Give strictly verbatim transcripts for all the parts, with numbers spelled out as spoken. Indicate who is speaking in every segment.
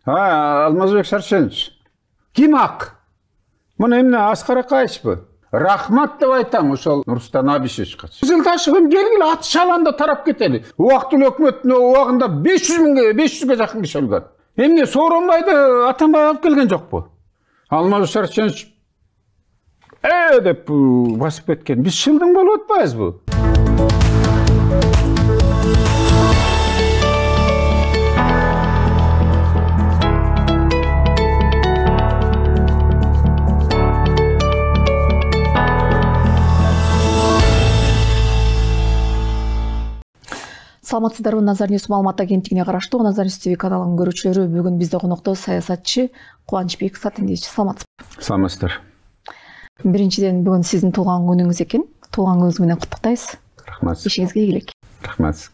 Speaker 1: Алмазбек Шаршенович, ким ак? Мына эмне Аскар Акаевичпи? Рахмат деп айтам ошол Нурсултан Абишевичке. Жыл ташыгын келгиле ат шаланда тарап кетели. Убактылуу өкмөттүн убагында беш жүз миңге беш жүзгө жакын киши өлгөн. Эмне Сооронбайды Атамбай алып келген жокпу? Алмазбек Шаршенович э деп басып кеткен. Биз шылдың болуп атпайбызбы?
Speaker 2: Саламатсыздарбы, Назар Ньюс маалымат агенттигине караштуу Назар Ньюс ти ви каналынын көрүүчүлөрү, бүгүн бизде конокто саясатчы Кубанычбек Сатындиевич. Саламатсызбы?
Speaker 1: Саламатсыздар.
Speaker 2: Биринчиден, бүгүн сиздин туулган күнүңүз экен. Туулган күнүңүз менен куттуктайбыз.
Speaker 1: Рахмат.
Speaker 2: Ишиңизге ийгилик.
Speaker 1: Рахмат.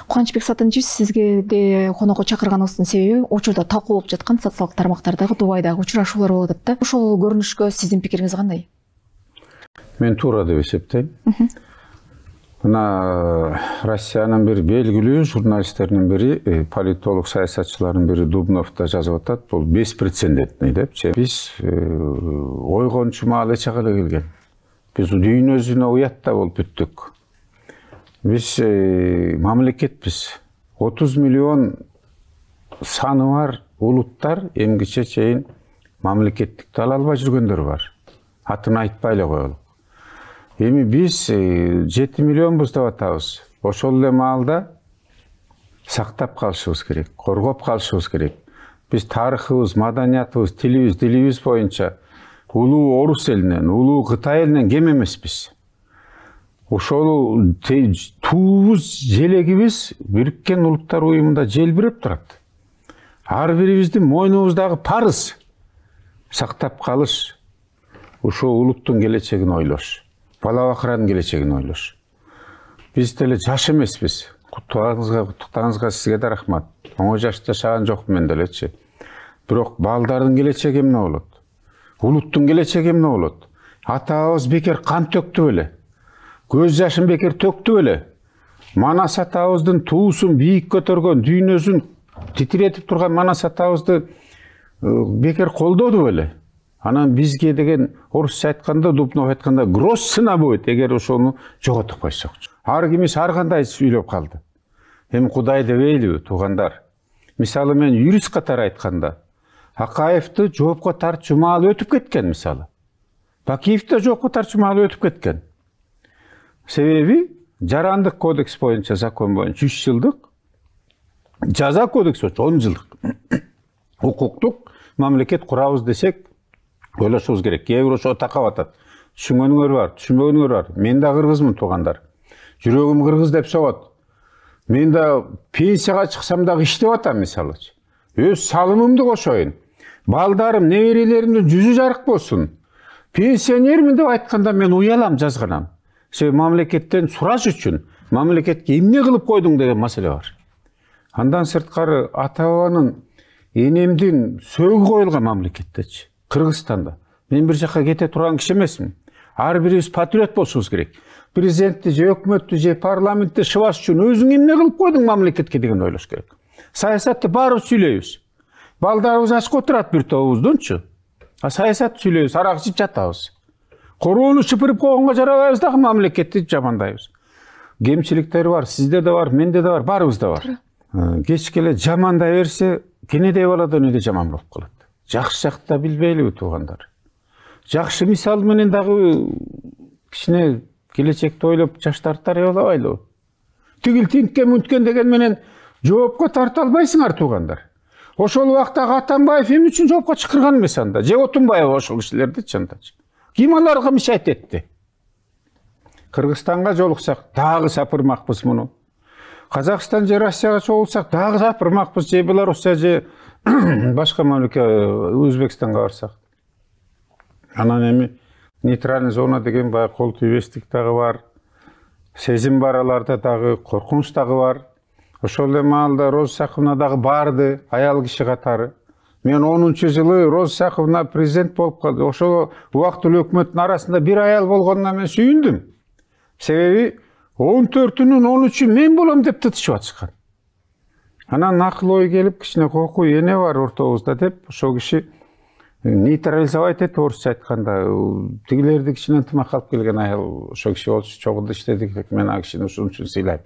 Speaker 2: Кубанычбек Сатындиевич, сизге де конокко чакырганыбыздын себеби учурда талкуу болуп жаткан социалдык тармактардагы Дубайдагы учурашуулар болуп атат да. Ошол көрүнүшкө сиздин пикириңиз кандай?
Speaker 1: Мен туура деп эсептейм. Мына Россиянын бир белгилүү журналисттеринин бири, политолог саясатчылардын бири Дубновда жазып атат, бул беспрецедентный депчи. Биз ойгончу маал эч жака эле келген. Биз дүйнөсүнө уятта болуп бүттүк. Биз мамлекетпиз. отуз миллион саны бар улуттар эмгиче чейин мамлекеттикти ала албай жүргөндөр бар. Атын айтпай эле коелу. Эми биз жети миллионбуз деп атабыз. Ошол эле маалда сактап калышыбыз керек, коргоп калышыбыз керек. Биз тарыхыбыз, маданиятыбыз, тилибиз, дилибиз боюнча улуу орус элинен, улуу Кытай элинен кем эмеспиз. Ошол туубуз, желегибиз Бириккен Улуттар Уюмунда желбиреп турат. Ар бирибиздин мойнубуздагы парыз сактап калыш, ошол улуттун келечегин ойлош. Бала бакыранын келечегин ойлош. Биз деле жаш эмеспиз. Куттугаңызга, куттуктагыңызга сизге да рахмат. Оңой жашта жашаган жокмун мен делечи. Бирок балдардын келечеги эмне болот? Улуттун келечеги эмне болот? Атабыз бекер кан төктү беле? Көз жашын бекер төктү беле? Манас атабыздын туусун бийик көтөргөн, дүйнөсүн титиретип турган Манас атабызды бекер колдоду беле? Анан бизге деген орусча айтканда, Дубнов айтканда грош цена будет, эгер ошону жоготуп койсок. Ар кимиш ар кандай сүйлөп калды. Эми Кудай дебейлиби, туугандар? Мисалы мен юрист катары айтканда, Акаевди жоопко тартчу маал өтүп кеткен мисалы. Бакиевди жоопко тартчу маал өтүп кеткен. Себеби жарандык кодекс боюнча, закон боюнча үч жылдык, жаза кодекс боюнча он жылдык укуктук мамлекет курабыз десек, ойлошубуз керек. Кээ бир ошо такап атат. Түшүнгөнүңөр бар, түшүнбөгөнүңөр бар. Мен да кыргызмын, туугандар. Жүрөгүм кыргыз деп согот. Мен да пенсияга чыксам дагы иштеп атам мисалы. Өз салымымды кошоюн. Балдарым, неберелеримдин жүзү жарык болсун. Пенсионермин деп айтканда мен уялам, жазганам. Себеби мамлекеттен сураш үчүн, мамлекетке эмне кылып койдуң деген маселе бар. Андан сырткары ата-бабанын, энемдин сөөгү коюлган мамлекеттечи. Кыргызстанда. Мен бир жакка кете турган киши эмесмин. Ар бирибиз патриот болушубуз керек. Президентти же өкмөттү же парламентти шыбаш үчүн өзүң эмне кылып койдуң мамлекетке деген ойлош керек. Саясатты баарыбыз сүйлөйбүз. Балдарыбыз ачка отурат бир тобубуздунчу. А саясатты сүйлөйбүз, арак ичип жатабыз. Короону шыпырып койгонго жарабайбыз дагы мамлекетти жамандайбыз. Кемчиликтери бар, сизде да бар, менде да бар, баарыбызда бар. Кечке эле жамандай берсе, кенедей баладан өйдө жаман болуп калат. Жакшы жакты билбейлиби, туугандар? Жакшы мисал менен дагы кичине келечекти ойлоп жаштарды тарбиялабайлыбы? Тигил тинткен мүнткен деген менен жоопко тарта албайсыңар, туугандар. Ошол убактагы Атамбаев эмне үчүн жоопко чакырган эмес анда? Же Отунбаев ошол кишилерди чындачы. Ким аларга мишайт этти? Кыргызстанга жолуксак дагы сапырмакпыз муну. Казакстан же Россияга чогулсак дагы сапырмакпыз, же Белоруссия же башка мамлекет, Өзбекстанга барсак. Анан эми нейтральный зона деген баягы кол тийбестик дагы бар. Сезим бар аларда дагы, коркунуч дагы бар. Ошол эле маалда Роза Исаковна дагы барды, аял киши катары. Мен онунчу жылы Роза Исаковна президент болуп калды. Ошол убактылуу өкмөттүн арасында бир аял болгонуна мен сүйүндүм. Себеби он төртүнүн он үчү мен болом деп тытышып атышкан. Анан акыл ой келип, кичине коркуу эне бар ортобузда деп, ошол киши нейтрализовать этип, орусча айтканда, тигилерди кичине ынтымак алып келген аял ошол киши болчу, чогулду иштедик, мен ал кишини ушун үчүн сыйлайм.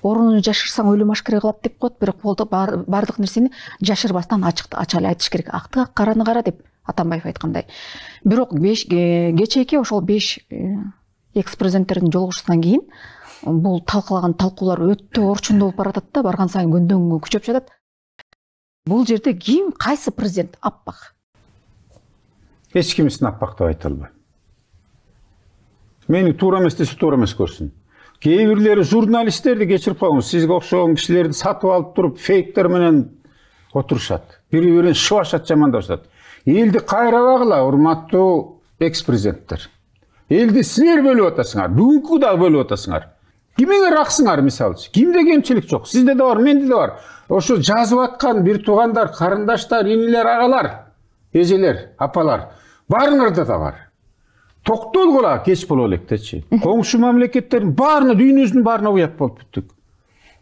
Speaker 2: Орунун жашырсаң өлүм ашкере кылат деп коет, бирок болду бардык нерсени жашырбастан ачык ача эле айтыш керек. Акты ак, караны кара деп Атамбаев айткандай. Бирок кечээки ошол беш экс президенттердин жолугушуусунан кийин бул талкылаган талкуулар өтө орчундуу болуп баратат да, барган сайын күндөн күнгө күчөп жатат. Бул жерде ким, кайсы президент аппак?
Speaker 1: Эч кимисин аппак деп айта албайм. Мени туура эмес десе туура эмес көрсүн. Кээ бирлери журналисттерди кечирип коюңуз, сизге окшогон кишилерди сатып алып туруп фейктер менен отурушат. Бири-бирин шыбашат, жамандашат. Элди кайрабагыла, урматтуу экс-президенттер. Элди силер бөлүп атасыңар, бүгүнкү дагы бөлүп атасыңар. Кимиңер аксыңар, мисалчы. Кимде кемчилик жок? Сизде да бар, менде да бар. Ошо жазып аткан бир туугандар, карындаштар, инилер, агалар, эжелер, апалар, баарыңарда да бар. Токтолгула кеч боло электечи. Коңшу мамлекеттердин баарына, дүйнөбүздүн баарына уят болуп бүттүк.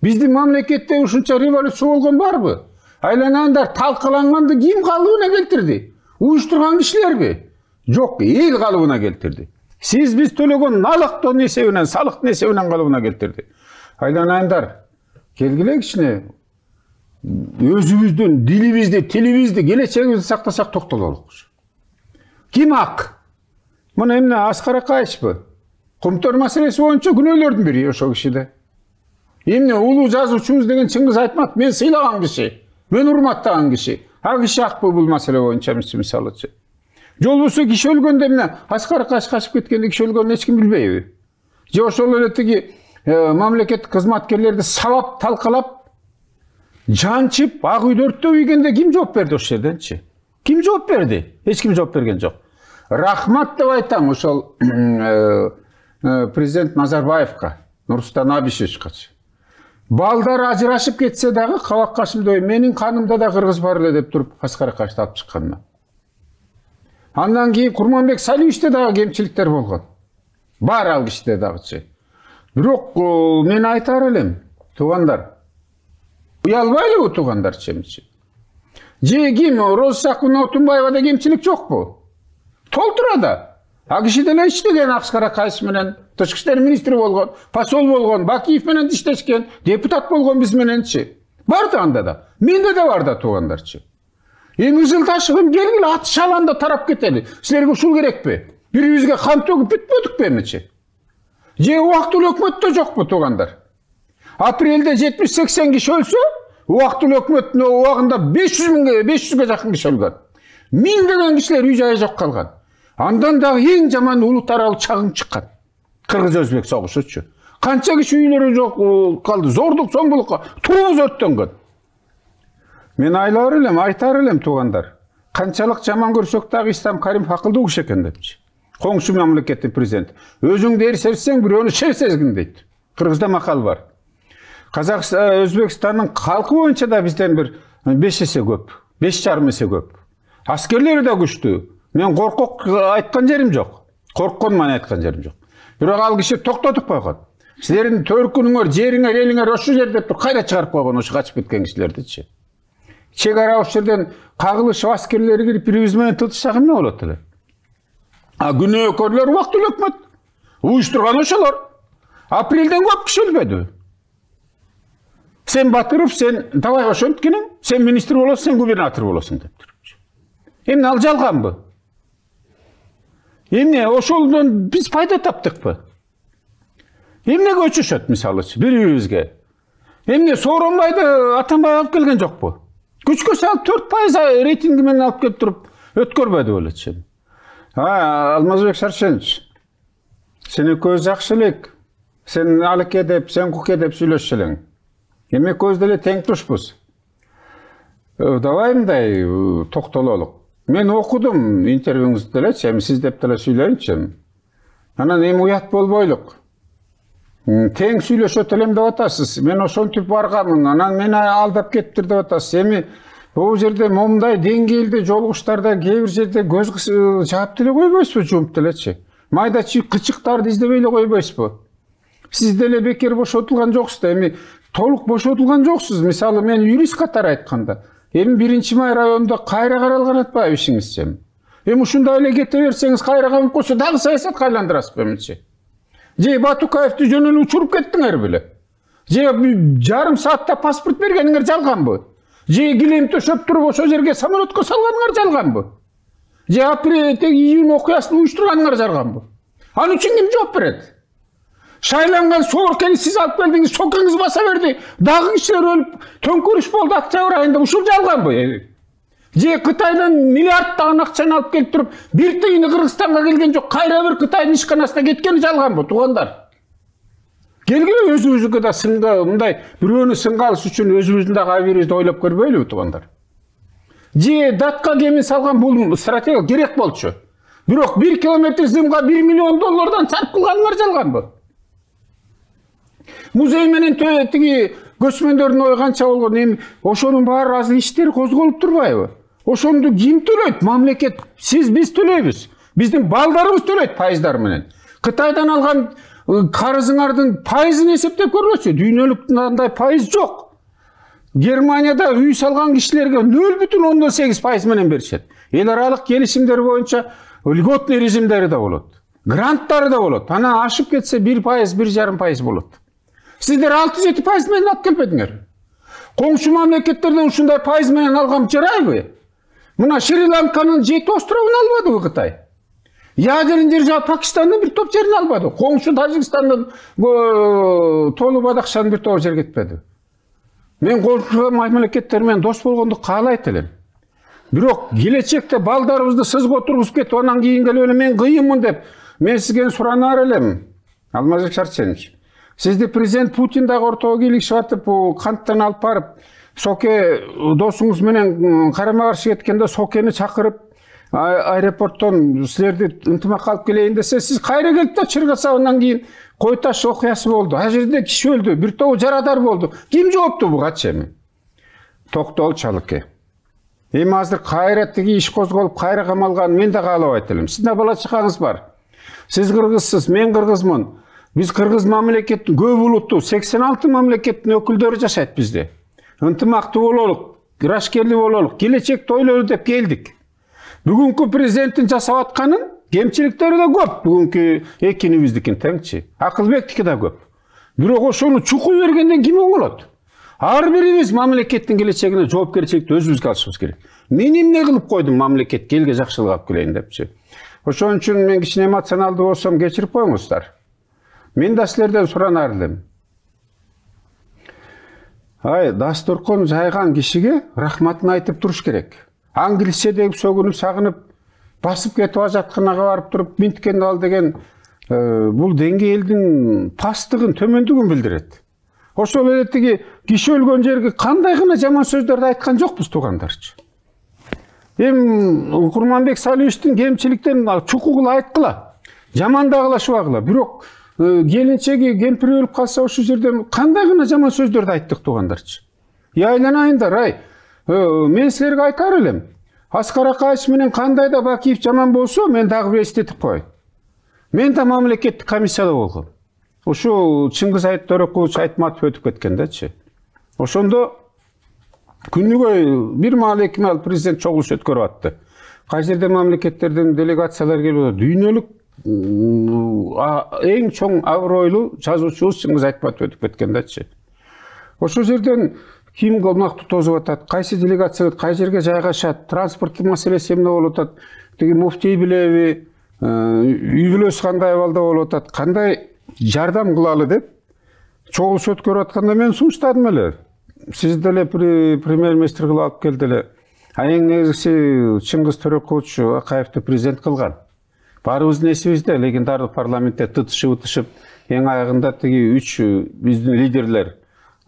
Speaker 1: Биздин мамлекетте ушунча революция болгон барбы? Айланандар талкаланганды ким калыбына келтирди? Уюштурган кишилерби? Жок, эл калыбына келтирди. Сиз биз төлөгөн налыктын эсебинен, салыктын эсебинен калыбына келтирди. Айланандар, келгиле кичине өзүбүздүн дилибизди, тилибизди, келечегибизди сактасак токтололукчу. Ким ак? Мына эмне Аскар Акаевичпи? Кумтөр маселеси боюнча күнөөлөрдүн бири ошол кишиде. Эмне улуу жазуучубуз деген Чыңгыз Айтматов мен сыйлаган киши, мен урматтаган киши. А киши акпы бул маселе боюнча мисалычы? Жол болсо киши өлгөндө эмне Аскар Акаевич качып кеткенде киши өлгөнүн эч ким билбейби? Же ошол эле тиги мамлекеттик кызматкерлерди сабап, талкалап, жанчып, ак үйдө өрттөп ийгенде ким жооп берди ошол жерденчи? Ким жооп берди? Эч ким жооп берген жок. Рахмат деп айтам ошол президент Назарбаевка, Нурсултан Абишевичкачы. Балдар ажырашып кетсе дагы Кабак Кашымбек менин канымда да кыргыз бар эле деп туруп Аскар Акаевичти алып чыкканына. Андан кийин Курманбек Салиевичте дагы кемчиликтер болгон. Бар ал кишиде дагычы. Бирок мен айтар элем, туугандар. Уялбайлыбы туугандарчы? Же ким Роза Отунбаевада кемчилик жокпу? Толтура да. А киши деле иштеген Аскар Акаевич менен, тышкы иштер министри болгон, посол болгон, Бакиев менен иштешкен, депутат болгон биз мененчи. Бар да анда да. Менде да бар да туугандарчы. Эми Ызылташевым келгиле ат шаланда тарап кетели. Силерге ушул керекпи? Бирибизге кан төгүп бүтпөдүкпү эмичи? Же убактылуу өкмөттө жокпу туугандар? Апрелде жетимиш сексен киши өлсө, убактылуу өкмөттүн убагында беш жүз миңге, беш жүзгө жакын киши өлгөн. Миңдеген кишилер үй жайы жок калган. Андан дагы эң жаман улут аралык чагым чыккан. Кыргыз-өзбек согушучу. Канча киши үйлөрү жок калды, зордук зомбулукка, туубуз өрттөнгөн. Мен айлар элем, айтар элем туугандар. Канчалык жаман көрсөк дагы Ислам Каримов акылдуу киши экен депчи. Коңшу мамлекеттин президенти. Өзүңдү эрсерсең бирөөнү шер сезгин дейт. Кыргызда макал бар. Казакстан, Өзбекстандын калкы боюнча да бизден бир беш эсе көп, беш жарым эсе көп. Аскерлери да күчтүү. Мен коркок айткан жерим жок. Корккон мани айткан жерим жок. Бирок ал киши токтотуп койгон. Силердин төркүнүңөр, жериңер, элиңер ошол жерде туруп кайра чыгарып койгон ошо качып кеткен кишилердичи. Чек ара ошол жерден кагылышып аскерлери кирип бирибиз менен тытышсак эмне болот эле? А күнөөкөрлөр убактылуу өкмөт. Уюштурган ошолор. Апрелден көп киши өлбөдү. Сен Батыров, сен давай ошенткениң, сен министр болосуң, сен губернатор болосуң деп турчу. Эмне ал жалганбы? Эмне ошолдон биз пайда таптыкпы? Эмнеге өчүшөт мисалычы бири-бирибизге? Эмне Сооронбайды Атамбай алып келген жокпу? Күчкө салып төрт пайыз рейтинги менен алып келип туруп өткөрбөдү белечи. А, Алмазбек Шаршенович, сен экөөбүз жакшы элек. Сен алыке деп, сен куке деп сүйлөшчү элең. Эми экөөбүз деле тең тушпуз. Давай мындай токтололук. Мен окудум интервьюңузду делечи, эми сиз деп деле сүйлөйүнчү. Анан эми уят болбойлук. Тең сүйлөшөт элем деп атасыз. Мен ошентип барганмын, анан мени алдап кеттир деп атасыз. Эми бул жерде момундай деңгээлде жолугуштарда кээ бир жерде көз жаап деле койбойсузбу, жумуп делечи. Майда кычыктарды издебей эле койбойсузбу? Сиз деле бекер бошотулган жоксуз да. Эми толук бошотулган жоксуз. Мисалы мен юрист катары айтканда, эми биринчи май районунда кайра каралган атпайбы ишиңизчи? Эми ушундай эле кете берсеңиз кайра камып койсо дагы саясатка айландырасызбы эмнечи? Же Батукаевди жөн эле учуруп кеттиңер беле? Же жарым саатта паспорт бергениңер жалганбы? Же килем төшөп туруп ошол жерге самолетко салганыңар жалганбы? Же апрель июнь окуясын уюштурганыңар жалганбы? Ал үчүн ким жооп берет? Шайланган Сооркени сиз алып келдиңиз, сокеңиз баса берди, дагы кишилер өлүп, төңкүрүш болду октябрь айында, ушул жалганбы? Же Кытайдан миллиарддаган акчаны алып келип туруп, бир тыйыны Кыргызстанга келген жок, кайра бир Кытайдын ишканасына кеткени жалганбы, туугандар? Келгиле өзүбүзгө да сынга, мындай бирөөнү сынга алыш үчүн өзүбүздүн дагы абийибизди ойлоп көрбөйлүбү, туугандар? Же датка кемин салган бул стратегия керек болчу. Бирок бир километр зымга бир миллион доллардан сарп кылганыңар жалганбы? Музей менен тиги көчмөндөрдүн ою канча болгон, эми ошонун баары азыр иштери козголуп турбайбы? Ошону ким төлөйт? Мамлекет. Сиз, биз төлөйбүз. Биздин балдарыбыз төлөйт пайыздар менен. Кытайдан алган карызыңардын пайызын эсептеп көрбөчү? Дүйнөлүк андай пайыз жок. Германияда үй салган кишилерге нөл бүтүн ондон сегиз пайыз менен беришет. Эл аралык келишимдер боюнча льготный режимдери да болот. Гранттары да болот. Ана ашып кетсе бир пайыз, бир жарым пайыз болот. Сиздер алты жети пайыз менен алып келбедиңер. Коңшу мамлекеттерден ушундай пайыз менен алган жарайбы? Мына Шри-Ланканын жети островун албадыбы Кытай? Ядерин держава Пакистандын бир топ жерин албады. Коңшу Тажикстандын Толу Бадакшанын бир топ жер кетпеди. Мен коңшу мамлекеттер менен дос болгондук каалайт элем. Бирок келечекте балдарыбызды сызга тургузуп кетип, анан кийин келип эле мен кыйынмын деп, мен сизге суранаар элем. Алмазбек Шарченович, сизди президент Путин дагы ортого кийлигишип атып, канттан алып барып, Соке досуңуз менен карама каршы кеткенде Сокени чакырып, аэропорттон силерди ынтымакка алып келейин десе, сиз кайра келип да чыргаса, андан кийин Кой Таш окуясы болду. А жерде киши өлдү, бир тобу жарадар болду. Ким жоопту бугачы эми? Токтол Чалыке. Эми азыр кайра тиги иш козголуп, кайра камалган мен да каалабайт элем. Сиздин бала чакаңыз бар. Сиз кыргызсыз, мен кыргызмын. Биз кыргыз мамлекеттин көп улуттуу сексен алты мамлекеттин өкүлдөрү жашайт бизде. Ынтымактуу бололук, кырашкерлүү бололук, келечекти ойлолу деп келдик. Бүгүнкү президенттин жасап атканын кемчиликтери да көп. Бүгүнкү экинибиздикин теңчи. Акылбектики да көп. Бирок ошону чукуй бергенден ким оңолот? Ар бирибиз мамлекеттин келечегине жоопкерчиликти өзүбүзгө алышыбыз керек. Мен эмне кылып койдум мамлекетке, элге жакшылык алып келейин депчи. Ошон үчүн мен кичине эмоционалдуу болсом кечирип коюңуздар. Мен да силерден суранаар элем. Ай, дасторкон жайган кишиге рахматын айтып туруш керек. Англисче деп сөгүнүп, сагынып, басып кетип ажатканага барып туруп, минткенди ал деген бул деңгээлдин пасттыгын, төмөндүгүн билдирет. Ошол эле тиги киши өлгөн жерге кандай гана жаман сөздөрдү айткан жокпуз, туугандарчы. Эми Курманбек Салиевичтин кемчиликтерин чукугула айткыла, жамандагыла, бирок келинчеги кемпири өлүп калса ошол жерден кандай гана жаман сөздөрдү айттык, туугандарчы. И айланайындар, ай, мен силерге айтаар элем. Аскар Акаевич менен кандай да Бакиев жаман болсо, мен дагы бир эстетип коеюн. Мен да мамлекеттик комиссияда болгом. Ошо Чыңгыз Айтөрекович Айтматов өтүп кеткендечи. Ошондо күнүгө бир маал эки маал президент чогулуш өткөрүп атты. Кай жерде мамлекеттерден делегациялар келип, дүйнөлүк эң чоң абройлуу жазуучубуз Чыңгыз Айтматов өтүп кеткендечи. Ошол жерден ким колмактуу тозуп атат, кайсы делегация кай жерге жайгашат, транспорттук маселеси эмне болуп атат, тиги муфтий билеби, үй бүлөсү кандай абалда болуп атат, кандай жардам кылалы деп чогулуш өткөрүп атканда мен сунуштадым эле. Сиз деле премьер-министр кылып алып келди эле. А эң негизгиси Чыңгыз Төрекович Акаевди президент кылган. Баарыбыздын эсибизде легендардык парламентте тытышып-тышып, эң аягында тиги үч биздин лидерлер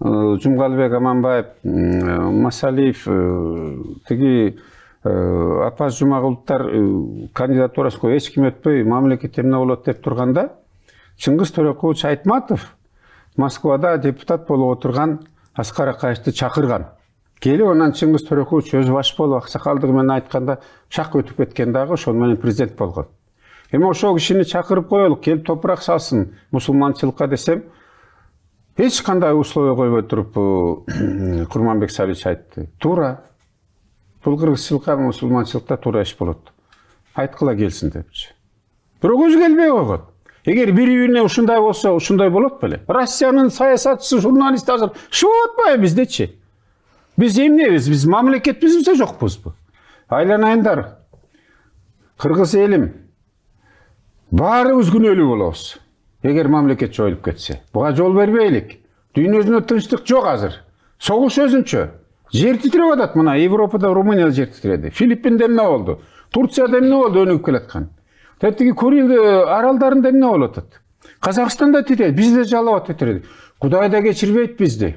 Speaker 1: Жумгалбек Аманбаев, Масалиев, тиги Апаз Жумагуловтар кандидатурасына эч ким өтпөй мамлекет эмне болот деп турганда, Чыңгыз Төрекович Айтматов Москвада депутат болуп отурган Аскар Акаевди чакырган. Келип анан Чыңгыз Төрекович өзү баш болуп аксакалдыгы менен айтканда шак өтүп кеткен дагы, ошол менен президент болгон. Эми ошол кишини чакырып коелук, келип топурак салсын мусулманчылыкка десем, Эч кандай условия койбой туруп Курманбек Салич айтты. Туура. Бул кыргызчылыкка, мусулманчылыкта туура иш болот. Айткыла келсин депчи. Бирок өзү келбей койгон. Эгер бири-бирине ушундай болсо, ушундай болот беле? Россиянын саясатчысы, журналисти азыр шыбып атпайбы биздечи? Биз эмнебиз? Биз мамлекетпизби, жокпузбу? Айланайындар. Кыргыз элим. Баарыбыз күнөөлүү болобуз. Эгер мамлекет жоюлуп кетсе, буга жол бербейлик. Дүйнөдө тынчтык жок азыр. Согуш өзүнчө. Жер титиреп атат мына Европада, Румынияда жер титиреди. Филиппинде эмне болду? Турцияда эмне болду өнүгүп келаткан? Тетиги Курил аралдарында эмне болуп атат? Казакстанда титирет, бизде жалап титиреди. Кудай да кечирбейт бизди.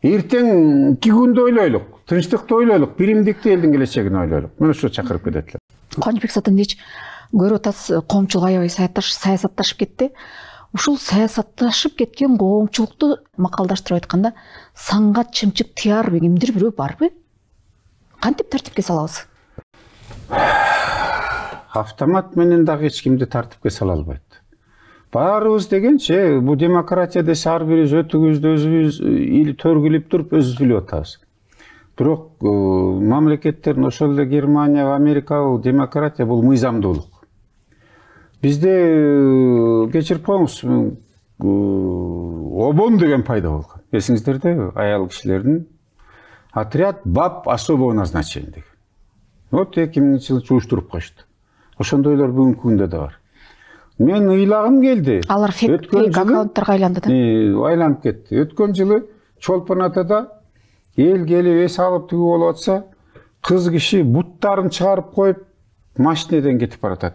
Speaker 1: Эртең эки күндү ойлойлук, тынчтыкты ойлойлук, биримдикти элдин келечегин ойлойлук. Мына ошо чакырып кетет эле.
Speaker 2: Кубанычбек Сатындыч көрүп атасыз, коомчулук аябай саясатташып кетти. Ушул саясатташып кеткен коомчулукту макалдаштырып айтканда, санга чымчык тияр кимдир бирөө барбы? Кантип тартипке салабыз?
Speaker 1: Автомат менен дагы эч кимди тартипке сала албайт. Баарыбыз дегенче, бул демократия десе ар бирибиз өтүгүбүздү өзүбүз ил төргүлүп туруп өзүбүз билип атабыз. Бирок мамлекеттердин ошол эле Германия, Америка бул демократия бул мыйзамдуулук. Бизде кечирип коюңуз, обон деген пайда болгон. Эсиңиздерде аял кишилердин отряд баб особого назначения деген. Вот эки миңинчи жылы чууштуруп коюшту. Ошондойлор бүгүнкү күндө да бар. Мен ыйлагым келди.
Speaker 2: Алар фейк аккаунттарга айланды да?
Speaker 1: Айланып кетти. Өткөн жылы Чолпон Атада эл келип эс алып тигүү болуп атса, кыз киши буттарын чыгарып коюп, машинеден кетип баратат.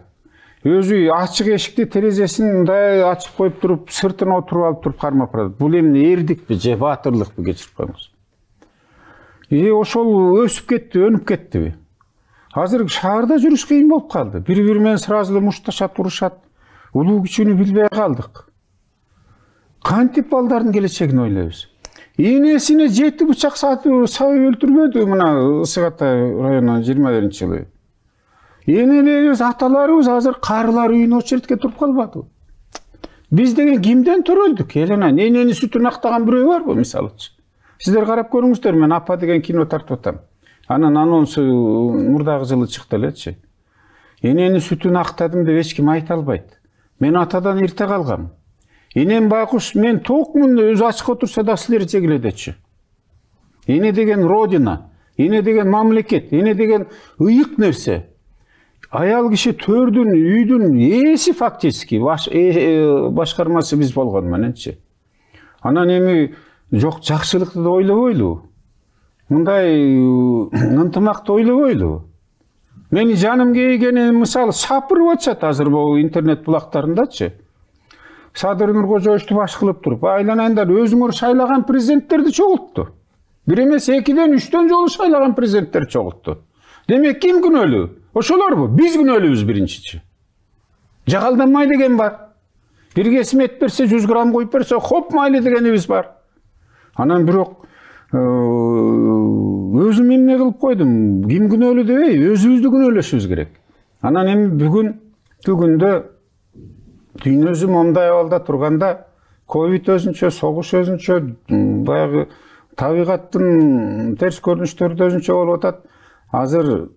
Speaker 1: Өзү ачык эшикти, терезесин мындай ачып коюп туруп, сыртына отуруп алып туруп кармап барат. Бул эмне, эрдикпи же баатырлыкпы, кечирип коюңуз. И ошол өсүп кетти, өнүп кеттиби? Азыр шаарда жүрүш кыйын болуп калды. Бири-бири менен сразу эле мушташат, урушат. Улуу күчүнү билбей калдык. Кантип балдардын келечегин ойлойбуз? Энесине жети бычак сатып өлтүрбөдү мына Ысык Атай районунун жыйырма биринчи жылы. Энелерибиз, аталарыбыз азыр карылар үйүнө очередке туруп калбады. Биз деген кимден төрөлдүк? Элена, энени сүтүн актаган бирөө барбы, мисалычы? Сиздер карап көрүңүздөр, мен Апа деген кино тартып атам. Анын анонсу мурдагы жылы чыкты элечи. Энени сүтүн актадым деп эч ким айта албайт. Мен атадан эрте калгам. Энем байкуш, мен токмун, өзү ачык отурса да силер жегиледечи. Эне деген родина, эне деген мамлекет, эне деген ыйык нерсе. Аял киши төрдүн, үйдүн ээси фактически, башкармасы биз болгон мененчи. Анан эми жок жакшылыкты да ойлобойлу. Мындай ынтымакты ойлобойлу. Мени жаным кейгени мисалы сапырып атышат азыр бул интернет булактарындачы. Садыр Нуркожоевичти баш кылып туруп, айланайындар, өзүңөр шайлаган президенттерди чогултту. Бир эмес экиден, үчтөн жолу шайлаган президенттер чогултту. Демек ким күнөөлүү? Ошолорбу? Биз күнөөлүүбүз биринчичи. Жагалданмай деген бар. Бир кесим эт берсе, жүз грамм коюп берсе, хоп майлы дегенибиз бар. Анан бирок өзүм эмне кылып койдум? Ким күнөөлүү дебей, өзүбүздү күнөөлөшүбүз керек. Анан эми бүгүн күндө дүйнөсү момундай абалда турганда, ковид өзүнчө, согуш өзүнчө, баягы табигаттын терс көрүнүштөрү өзүнчө болуп атат. Азыр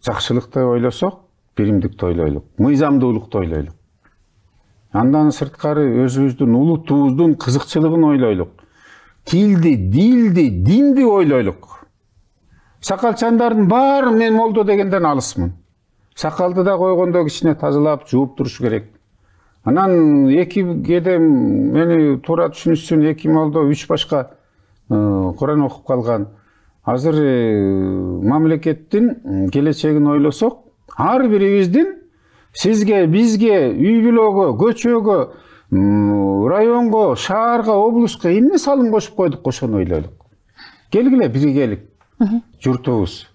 Speaker 1: жакшылыкты ойлосок, биримдикти ойлойлук, мыйзамдуулукту ойлойлук. Андан сырткары өзүбүздүн улутубуздун кызыкчылыгын ойлойлук. Тилди, дилди, динди ойлойлук. Сакалчандардын баары мен молдо дегенден алысмын. Сакалды да койгондо кичине тазалап, жууп туруш керек. Анан эки кеде мени туура түшүнүшсүн, эки молдо, үч башка Куран окуп калган. Азыр мамлекеттин келечегин ойлосок, ар бирибиздин сизге, бизге, үй бүлөгө, көчөгө, районго, шаарга, облуска эмне салым кошуп койдук, ошону ойлойлук. Келгиле биригелик, журтубуз.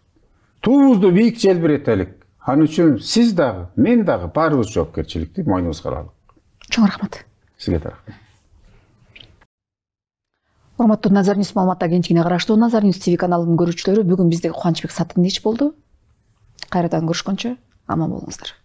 Speaker 1: Туубузду бийик желбиретелик. Ал үчүн сиз дагы, мен дагы баарыбыз жоопкерчиликти мойнубузга алалык.
Speaker 2: Чоң рахмат.
Speaker 1: Сизге да рахмат.
Speaker 2: Урматтуу Назар Ньюс маалыматта кенчигине караштуу Назар Ньюс ти ви каналынын көрүүчүлөрү, бүгүн бизде Кубанычбек Сатындыч болду. Кайрадан көрүшкөнчө аман болуңуздар.